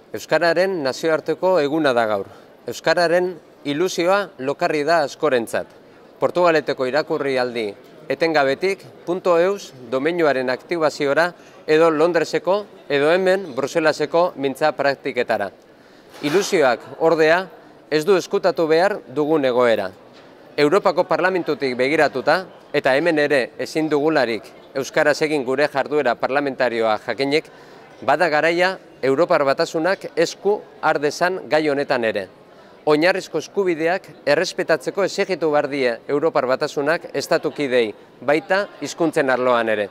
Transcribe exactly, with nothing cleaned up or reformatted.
Euskararen nazioarteko eguna da gaur. Euskararen ilusioa lokarri da askorentzat. Portugaleteko irakurri aldi etengabetik .eus domeinuaren aktibaziora edo Londreseko edo hemen Bruselaseko mintza praktiketara. Ilusioak ordea ez du eskutatu behar dugun egoera. Europako Parlamentutik begiratuta eta hemen ere ezin dugularik euskaraz egin gure jarduera parlamentarioa jakinik, bada garaia Europar Batasunak esku har dezan gai honetan ere. Oinarrizko eskubideak errespetatzeko exijitu behar die Europar Batasunak estatukidei baita hizkuntzen arloan ere.